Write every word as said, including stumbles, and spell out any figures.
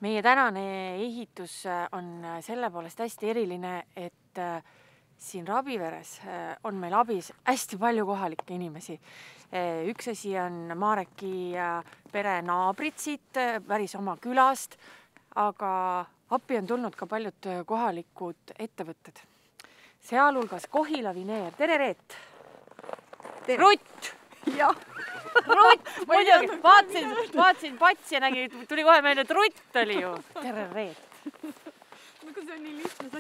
Meie tänane ehitus on selle poolest hästi eriline, et siin Rabiveres on meil abis hästi palju kohalikke inimesi. Üks asi on Mareki pere naabrid siit päris oma külast, aga appi on tulnud ka paljud kohalikud ettevõtted. Sealhulgas Kohila Vineer. Tere, Reet! Rutt! Jah! Rutt! Muidugi, vaatasin, vaatasin patsi ja nägi, tuli kohe meelde, et Rutt oli ju. Tere, Reet! Nagu see on nii lihtne,